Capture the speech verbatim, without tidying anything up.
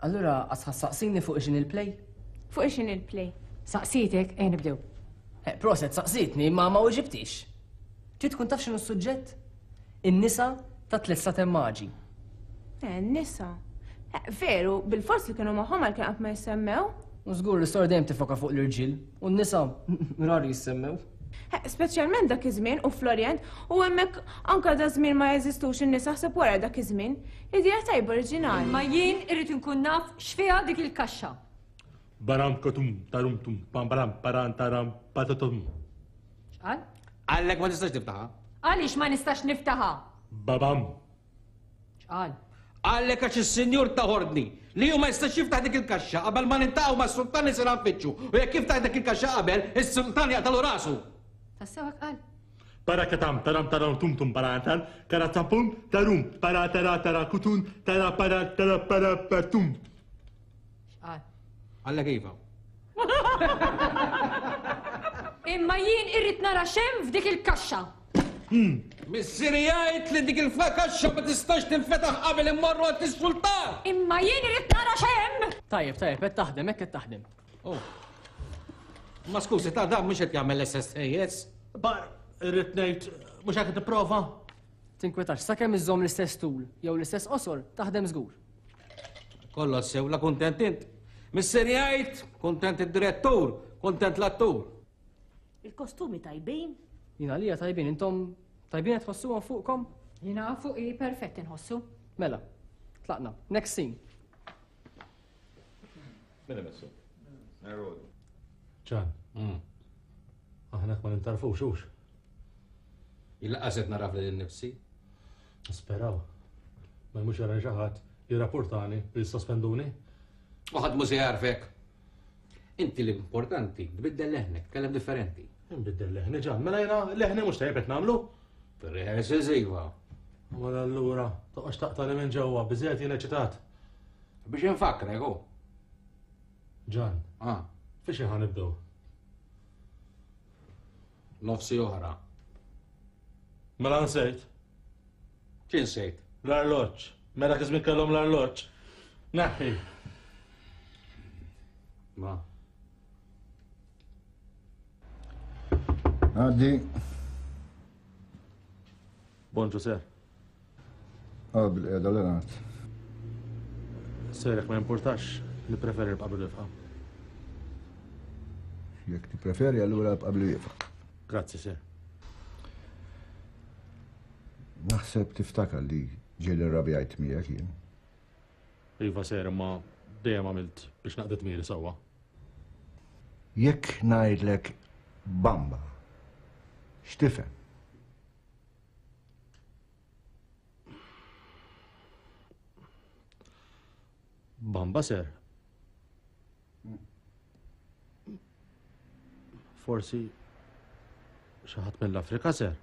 Allura għasħa saqsini fuq ixin il-play? Fuq ixin il-play. Saqsitek, ejja nibdew. Eh, proset, saqsitni, ma ma uġibtix. Trid tkun taf x'inhu s-suġġett? In-nisa ta' tliet satem maġi. Eh, nisa. Eh, veru, bil-fors li kienu magħhom għal kien qatt ma jissemmew. U żgur l-istorja dejjem tifoka fuq l-irġiel, u n-nisa rari jissemmew. Eh, speċjalment dak iż-żmien u fl-Orjent, u hemmhekk anke da żmien ma jeżistux in-nisa ħseb wara dak iż-żmien. Idea tajba oriġinali. Ma jien irrid inkun naf x'fiha dik il-kaxxa. Baram katum tarum tum pam baram paran taram patatum. X'qal? Għallek ma tistax tiftaħha. Għaliex ma nistax niftaħha? Babam. X'qal? Għallek għax is-sinjur ta' ordni li hu ma jistax jiftaħ dik il-kaxxa qabel ma nintaqgħu mas-sultan li se nfittxu u jekk jiftaħ dik il-kaxxa qabel, is-sultan jaqtalu rasu. Tassew hekk qal? Barakatam taram taram tum tum parantan karatampum tarum para tara tara kutun tara para tara para patum. X'qal? Għallek iva. Imma jien irrid nara x'hemm f'dik il-kaxxa. Missieri jgħid li dik il-kaxxa ma tistax tinfetaħ qabel immorru għand is-sultan. Imma jien irrid nara x'hemm! Tajjeb, tajjeb, qed taħdem, hekk qed taħdem. Oh. Ma skużi, ta' dan mhux qed jagħmel S S A S. Bar, irrid ngħid mhux hekk tipprova. Tinkwetax, sakemm iżżomm l-istess tul jew l-istess qosor, taħdem żgur. Kollox sew, la kuntent int. Missieri jgħid, kuntent id-direttur, kuntent l-attur. Il-kostumi tajbin? Jien għalija tajbin, intom tajbin qed tħossuhom fuqkom? Jiena fuqi perfett inħossu. Mela, tlaqna. Next scene. Min imessu? Ġan, aħna ma nintarfux hux. Il-laqas qed naraf lil nifsi. Speraw. Ma mhux jara xi ħadd jirrapportani u jissospenduni. U ħadd mhu se jarfek. Inti l-importanti, tbiddel leħnek, tkellem differenti. Nbiddel leħni Ġan, mela jiena leħni mhux tajjeb qed nagħmlu. Fir-rehearsals iva. Mela allura toqgħodx taqtani minn ġewwa, biżejjed jien eċitat. Biex infakrek hu. Ġan, Ah, fiex ħa nibdew? Nofsi oħra. Mela nsejt. X'insejt? L-arloġġ. Mela kif kellhom l-arloġġ. Neħħi. Ma. Għaddi. Bonġu, sir. Għad bil-qiegħda, Leonard. Sir, jekk ma importax, nippreferi nibqa' bil-wieqfa. Jekk tippreferi, allura ibqa' bil-wieqfa. Grazzi, sir. Naħseb tiftakar li ġieli rrabjajt miegħek jien. Iva, sir, imma dejjem għamilt biex naqdi dmiri sewwa. Jekk ngħidlek bamba, x'tifhem? Bamba, sir. Forsi xi ħadd mill-Afrika, sir.